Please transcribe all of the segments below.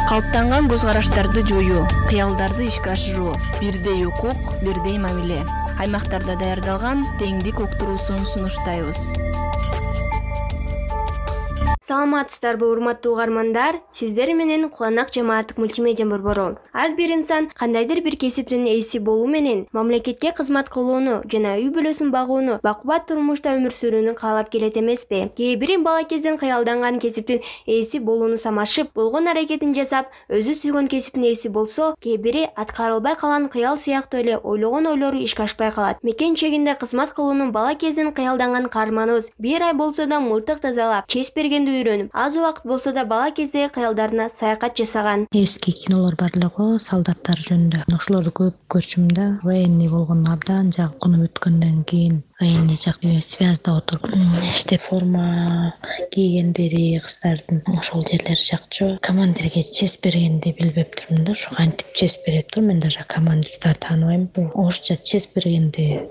Калыптанган көз караштарды жоюу, кыялдарды ишке ашыруу, бирдей укук, бирдей мамиле. Аймактарда даярдалган теңдик уктуруусун сунуштайбыз. Саламатсыздарбы, урматтуу угармандар? Сиздер менен Куланак жамааттык мультимедиа борбору. Ар бир инсан кандайдыр бир кесиптин ээси болуу менен мамлекетке кызмат кылууну жана үй бүлөсүн багууну, бакубат турмушта өмүр сүрүүнү каалап келет эмеспи? Кээ бири бала кезден кыялданган кесиптин ээси болууну самашып, болгон аракетин жасап, өзү сүйгөн кесиптин ээси болсо, кээ бири аткарылбай калган кыял сыяктуу эле ойлогон ойлору ишке ашпай калат. Мекен чегинде кызмат кылууну бала кезден кыялданган каарманыбыз бир ай болсо да мылтык тазалап, чеч бергенди үйрөнүп, аз убакыт болсо да бала кездеги кыялдарына саякат жасаган. Эски кинолор бар эле го, солдаттар жөнүндө. Ошолорду көп көрчүм да. Военный болгон абдан жакынып өткөндөн кийин военный жак связьда отуруп иштеп форма кийгендери кыздардын ошол жерлери жакчу. Командирге чеч бергенди билбептирмин да, ушу кантип чеч берет. Мен даже командирди тааныбайм. Орусча чеч бергенди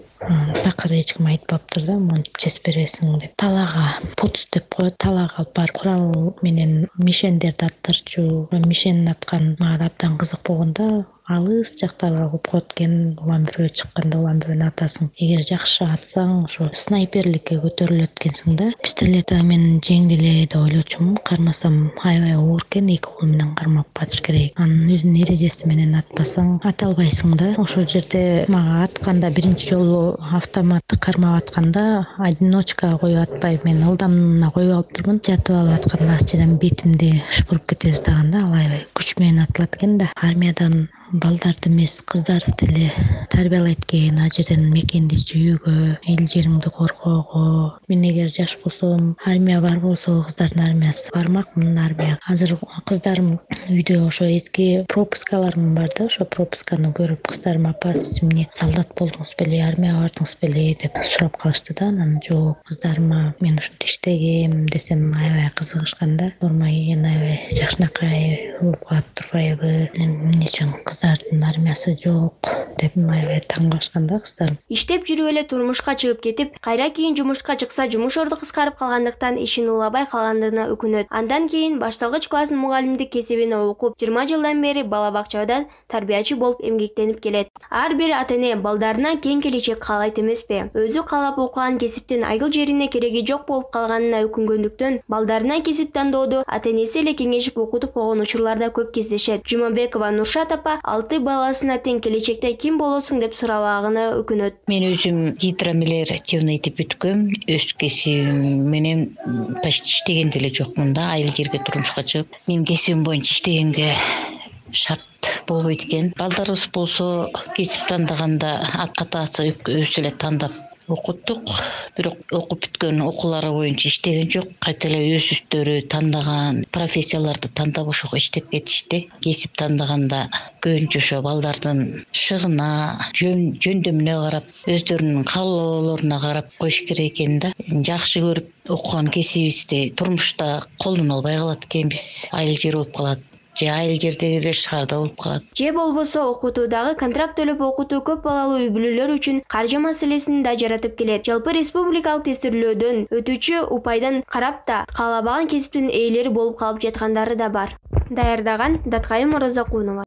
такыр эч ким айтпаптыр да, монтип чеч бересиң деп. Талаага пуц деп коет, талаага алып барып курал менен мишендерди аттырчу. Мишенин аткан мага абдан кызык болгондо, алыс жактарга куюп коет экен. Улам бирөө чыкканда улам бирөөнү атасың. Эгер жакшы атсаң, ошо снайперликке көтөрүлөт экенсиң да. Пистолета мен жеңил эле деп ойлочумун. Кармасам аябай оор экен, 2 кол менен кармап атыш керек. Анын өзүнүн эрежеси менен атпасаң ата албайсың да. Ошол жерде мага атканда биринчи жолу автоматты кармап атканда одиночкага коюп атпай, мен ылдамына коюп алыптырмын. Жатып алып атканда асчадан бетимди шыпырып кете жаздаганда ал аябай күч менен атылат экен да. Армиядан балдарды эмес, кыздарды деле тарбиялайт экен, ал жерден мекенди сүйүүгө, эл жериңди коргоого. Мен эгер жаш болсом, армия бар болсо, кыздардын армиясы бармакмын армияга. Азыр кыздарым үйдө ошо эски пропускаларым бар да, ошо пропусканы көрүп кыздарым: "Апа, сиз эмне солдат болдуңуз беле, армияга бардыңыз беле?" деп сурап калышты да. Анан жок, кыздарыма мен ушинтип иштегем десем аябай кызыгышкан да. Форма кийген аябай жакшынакай болуп калат турбайбы, эмне үчүн кыздардын армиясы жок деп аябай таң калышкан да кыздарым. Иштеп жүрүп эле турмушка чыгып кетип, кайра кийин жумушка чыкса, жумуш орду кыскарып калгандыктан ишин улабай калгандыгына өкүнөт. Андан кийин башталгыч класстын мугалимдик кесибине окуп, 20 жылдан бери бала бакчада тарбиячы болуп эмгектенип келет. Ар бир ата-эне балдарына кең келечек каалайт эмеспи? Өзү каалап окуган кесиптин айыл жерине кереги жок болуп калганына өкүнгөндүктөн, балдарына кесип тандоодо ата-энеси эле кеңешип окутуп койгон учурлар да көп кездешет. Жумабекова Нуршат апа 6 баласына тең келечекте ким болосуң деп сурабагына өкүнөт. Мен өзүм гидромелиоративный деп бүткөм. Өз кесибим менен почти иштеген деле жокмун да, айыл жерге турмушка чыгып. Менин кесибим боюнча иштегенге шарт болбойт экен. Балдарыбыз болсо кесип тандаганда ата-атасы өзү эле тандап окуттук, бирок окуп бүткөн окуулары боюнча иштеген жок. Кайта эле өздөрү тандаган профессияларды тандап ошого иштеп кетишти. Кесип тандаганда көбүнчө ошо балдардын шыгына, жөндөмүнө карап, өздөрүнүн каалоолоруна карап коюш керек экен да. Жакшы көрүп окуган кесибибизди турмушта колдоно албай калат экенбиз. Айыл жер болуп калат. Же айыл жердеги шаарда болуп калат. Же болбосо окутуудагы контракт төлөп окутуу көп балалуу үй бүлөлөр үчүн каржы маселесин да жаратып келет. Жалпы республикалык тестирлөөдөн өтүүчү упайдан карап да каалабаган кесиптин ээлери болуп калып жаткандары да бар. Даярдаган Даткайым Оразакунова.